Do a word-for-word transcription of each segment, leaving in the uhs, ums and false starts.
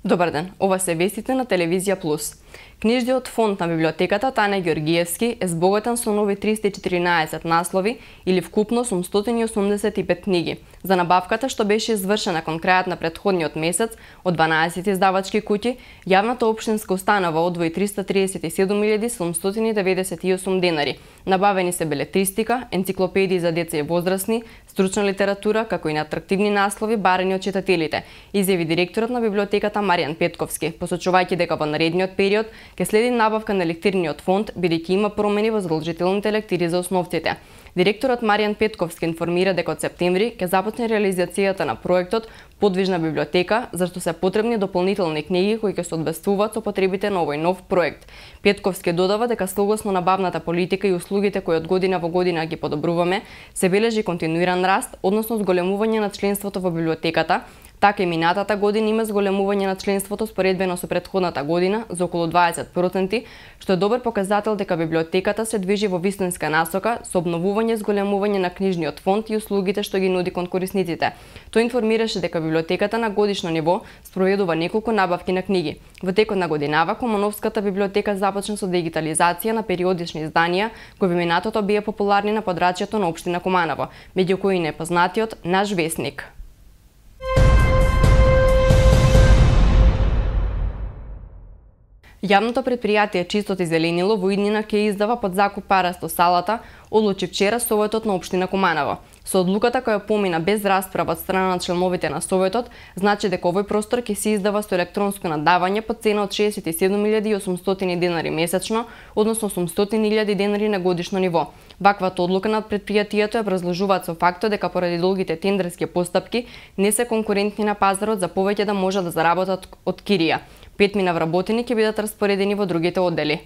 Добар ден, ова се вестите на Телевизија Плюс. Книжниот фонд на библиотеката Тане Ѓоргиевски е збогатен со нови триста и четиринаесет наслови или вкупно осумстотини и осумдесет и пет книги. За набавката што беше извршена кон крајот на претходниот месец од дванаесет издавачки куќи, јавната општинска установа одвои триста триесет и седум илјади седумстотини деведесет и осум денари. Набавени се белетристика, енциклопедии за деца и возрастни, стручна литература, како и на атрактивни наслови барани од читателите, изјави директорот на библиотеката Маријан Петковски, посочувајќи дека во наредниот период ќе следи набавка на лектирниот фонд, бидејќи има промени во задолжителните лектири за основците. Директорот Маријан Петковски информира дека од септември ќе започне реализацијата на проектот Подвижна библиотека, зашто се потребни дополнителни книги кои ќе се одбествуваат со потребите на овој нов проект. Петковски додава дека согласно набавната политика и услугите кои од година во година ги подобруваме, се бележи континуиран раст, односно зголемување на членството во библиотеката. Така и минатата година има зголемување на членството споредбено со претходната година за околу дваесет проценти, што е добар показател дека библиотеката се движи во вистинска насока со обновување и зголемување на книжниот фонд и услугите што ги нуди кон корисниците. Тој информираше дека библиотеката на годишно ниво спроведува неколку набавки на книги. Во текот на годинава Кумановската библиотека започна со дигитализација на периодични изданија кои во минатото беа популарни на подрачјето на општина Куманово, меѓу кои непознатиот Наш весник. Јавното предпријатие Чистот и зеленило во иднина ќе издава под закуп парасто салата, одлучи вчера Советот на општина Куманово. Со одлуката која помина без расправа од страна на членовите на Советот, значи дека овој простор ќе се издава со електронско надавање по цена од шеесет и седум илјади и осумстотини денари месечно, односно осумстотини илјади денари на годишно ниво. Ваквата одлука на предпријатието ја образложуваат со фактот дека поради долгите тендерски постапки не се конкурентни на пазарот за повеќе да можат да заработат од кирија. Петмина вработени ќе бидат распоредени во другите оддели.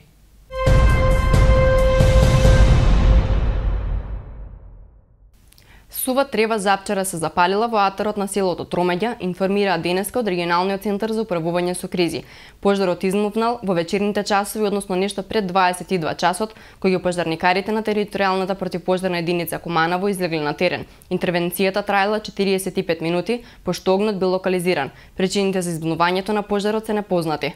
Сува трева запчара се запалила во атарот на селото Тромеѓа, информира денеска од регионалниот центар за управување со кризи. Пожарот измувнал во вечерните часови, односно нешто пред дваесет и два часот, кој ги пожарникарите на територијалната противпожарна единица Куманово излегли на терен. Интервенцијата траела четириесет и пет минути, пошто огнот бил локализиран. Причините за избунувањето на пожарот се непознати.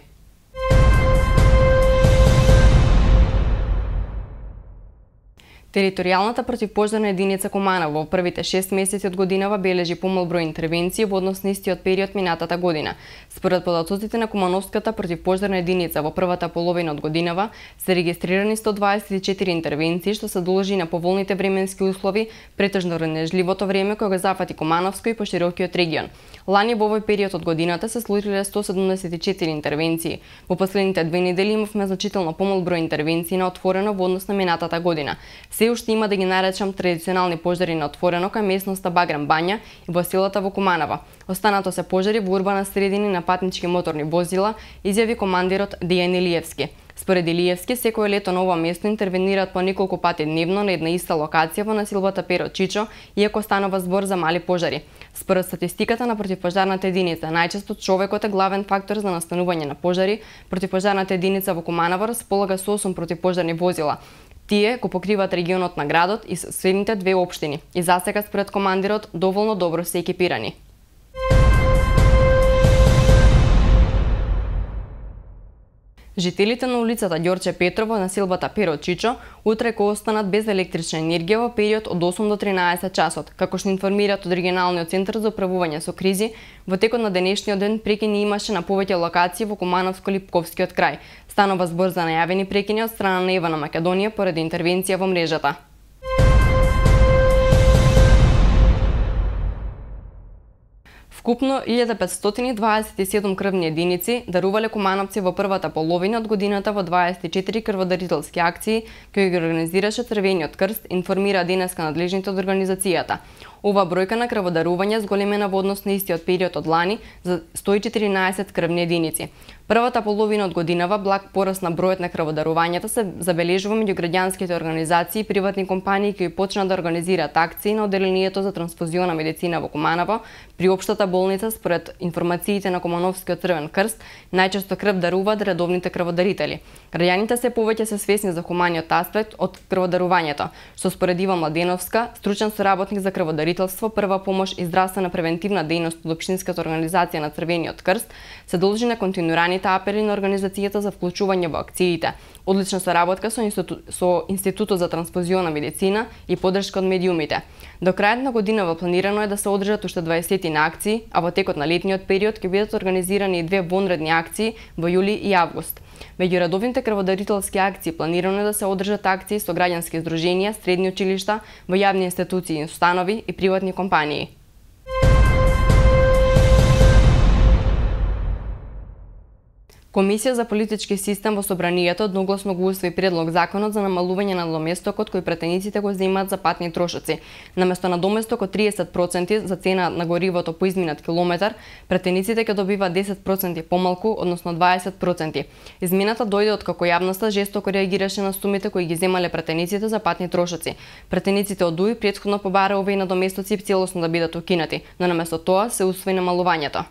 Територијалната противпожарна единица Куманово во првите шест месеци од годинава бележи помал број интервенции во однос на истиот период минатата година. Според податоците на Кумановската противпожарна единица во првата половина од годинава се регистрирани сто дваесет и четири интервенции, што се должи на поволните временски услови, претежно ренежливото време кој го зафати Кумановско и поширокиот регион. Лани во овој период од годината се случиле сто седумдесет и четири интервенции. Во последните две недели имавме значително помал број интервенции на отворено во однос на минатата година. Се уште има да ги наречам традиционални пожари на отворено кај местноста Баграм Бања и во селата во Куманово. Останато се пожари во урбана средини на патнички моторни возила, изјави командирот Дијан Илиевски. Според Илиевски, секое лето на ова место интервенираат по неколку пати дневно на една иста локација во населбата Перо Чичо, иако станува збор за мали пожари. Според статистиката на противпожарната единица, најчесто човекот е главен фактор за настанување на пожари. Противпожарната единица во Куманово располага со осум противпожарни возила. Тие го покриваат регионот на градот и соседните две општини. И засега според командирот доволно добро се екипирани. Жителите на улицата Ѓорче Петров во населбата Перо Чичо утре ќе останат без електрична енергија во период од осум до тринаесет часот, како што информираат од регионалниот центар за управување со кризи. Во текот на денешниот ден прекини имаше на повеќе локации во Кумановско-Липковскиот крај. Станува збор за најавени прекини од страна на Ева на Македонија поради интервенција во мрежата. Вкупно илјада петстотини дваесет и седум крвни единици дарувале кумановци во првата половина од годината во дваесет и четири крводарителски акции кои ги организираше Црвениот крст, информира денеска надлежните од организацијата. Ова бројка на крводарување зголемена во однос на истиот период од лани за сто и четиринаесет крвни единици. Првата половина од годинава благ пораст на бројот на крводарувањата се забележува меѓу граѓанските организации и приватни компании кои почнаа да организираат акции на одделението за трансфузиона медицина во Куманово при општата болница. Според информациите на Кумановскиот Црвен крст, најчесто крв даруваат редовните крводарители. Граѓаните се повеќе се свесни за хуманиот аспект од крводарувањето, што според Ива Младеновска, стручен соработник за крводарителство, прва помош и здравствена превентивна дејност од општинската организација на Црвениот крст, се должи на континуираните апели на организацијата за вклучување во акциите, одлична соработка со, институ... со Институтот за трансфузиона медицина и поддршка од медиумите. До крајот на годинава планирано е да се одржат уште дваесет на акции, а во текот на летниот период ќе бидат организирани и две вонредни акции во јули и август. Меѓу редовните крводарителски акции планирано е да се одржат акции со граѓански здруженија, средни училишта, во јавни институции и установи и приватни компании. Комисија за политички систем во Собранието одногласно го усвои предлог законот за намалување на доместокот кој пратениците го земаат за патни трошоци. Наместо на доместок од триесет проценти за цена на горивото по изминат километар, пратениците ќе добиваат десет проценти помалку, односно дваесет проценти. Измената дојде од како јавноста жестоко реагираше на сумите кои ги земале пратениците за патни трошоци. Пратениците од ДУИ претходно побараа овие надоместоци целосно да бидат укинати, но наместо тоа се усвои намалувањето.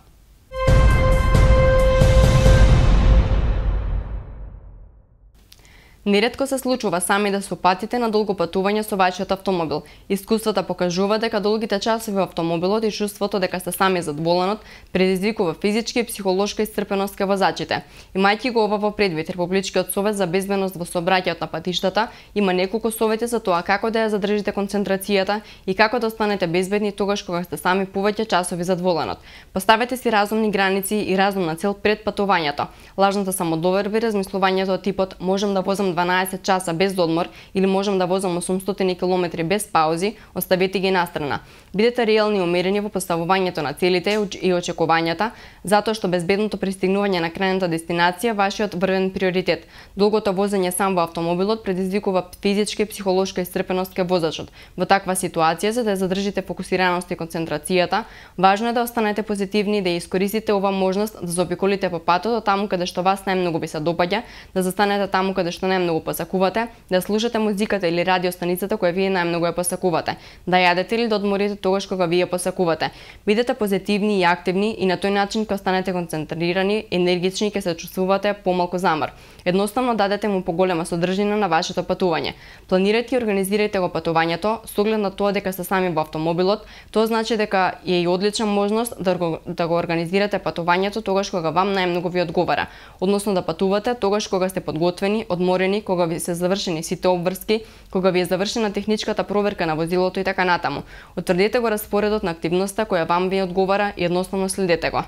Неретко се случува сами да се упатите на долго патување со вашиот автомобил. Искуствата покажува дека долгите часови во автомобилот и чувството дека сте сами зад воланот предизвикува физички и психолошка исцрпеност кај возачите. Имајќи го ова во предвид, Републичкиот совет за безбедност во сообраќајот на патиштата има неколку совети за тоа како да ја задржите концентрацијата и како да останете безбедни тогаш кога сте сами повеќе часови зад воланот. Поставете си разумни граници и разумна цел пред патувањето. Лажната самодоверба и размислувањето од типот можам да возам дванаесет часа без одмор или можам да возам осумстотини километри без паузи, оставете ги настрана. Бидете реални и умерени во поставувањето на целите и очекувањата, затоа што безбедното пристигнување на крајната дестинација вашиот врвен приоритет. Долгото возење сам во автомобилот предизвикува физичка и психолошка исцрпеност кај возачот. Во таква ситуација, за да ја задржите фокусираност и концентрацијата, важно е да останете позитивни и да искористите ова можност да заобиколите по патот таму каде што вас најмногу ви се допаѓа, да застанете таму каде што најмногу посакувате, да слушате музиката или радиостаницата која вие најмногу ја посакувате, да јадете или да одморите тогаш кога вие посакувате. Бидете позитивни и активни и на тој начин ќе останете концентрирани, енергични и ќе се чувствувате помалку замор. Едноставно дадете му поголема содржина на вашето патување. Планирајте и организирајте го патувањето со оглед на тоа дека сте сами во автомобилот. Тоа значи дека е и одлична можност да го, да го организирате патувањето тогаш кога вам најмногу ви одговара, односно да патувате тогаш кога сте подготвени, одморени, кога ви се завршени сите обврски, кога ви е завршена техничката проверка на возилото и така натаму. Утврдете го распоредот на активноста која вам ви одговара и едноставно следете го.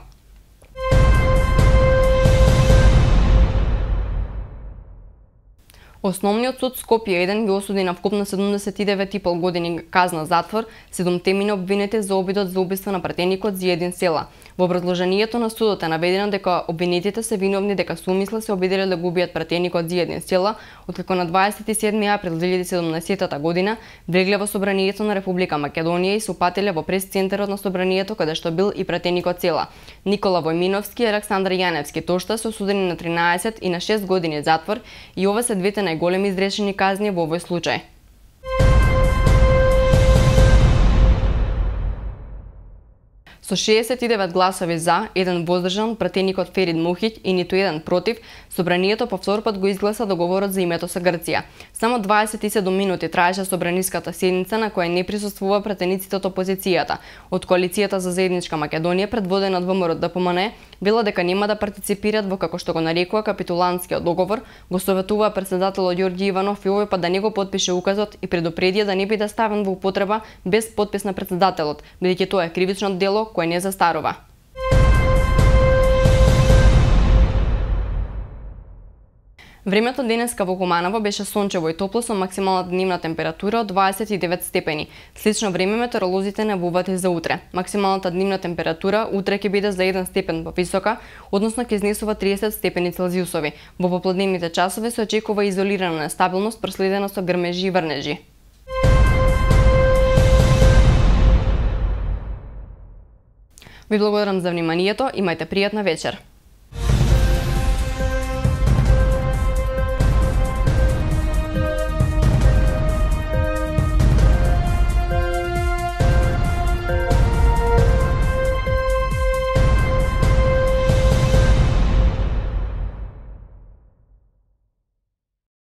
Основниот суд Скопје еден ги осуди на вкупно седумдесет и девет и пол години казна затвор седумте мина обвинети за обидот за убиство на пратеникот Зиедин Села. Во образложението на судот е наведено дека обвинетите се виновни дека со умисла се обиделе да го убијат пратеникот Зиедин Села, откако на дваесет и седми април две илјади и седумнаесетта година влегле во собранието на Република Македонија и се упателе во прес-центарот на собранието каде што бил и пратеникот Села. Никола Војминовски и Александар Јаневски тошта се осудени на тринаесет и на шест години затвор и ова се двете најголеми изречени казни во овој случај. Со шеесет и девет гласови за, еден воздржан, пратеникот Ферид Мухиќ и ниту еден против, собранието повтор пат го изгласа договорот за името со Грција. Само дваесет и седум минути траеше собраниската седница на која не присуствува пратениците од опозицијата. Од коалицијата за заедничка Македонија, предводена од ВМРО Д П М Н, вела дека нема да партиципираат во, како што го нарекува, капитулантскиот договор, го советуваа председателот Ѓорѓи Иванов и овој пат да не го потпише указот и предупредија да не биде ставен во употреба без подпис на председателот, бидејќи тоа е кривично дело кој не застарува. Времето денеска во Куманово беше сончево и топло со максимална дневна температура од дваесет и девет степени. Слично време метеоролозите најавуваат и за утре. Максималната дневна температура утре ќе биде за еден степен повисока, односно ќе изнесува триесет степени Целзиусови. Во попладневните часови се очекува изолирана нестабилност проследена со грмежи и врнежи. Ви благодарам за вниманието, имајте пријатна вечер.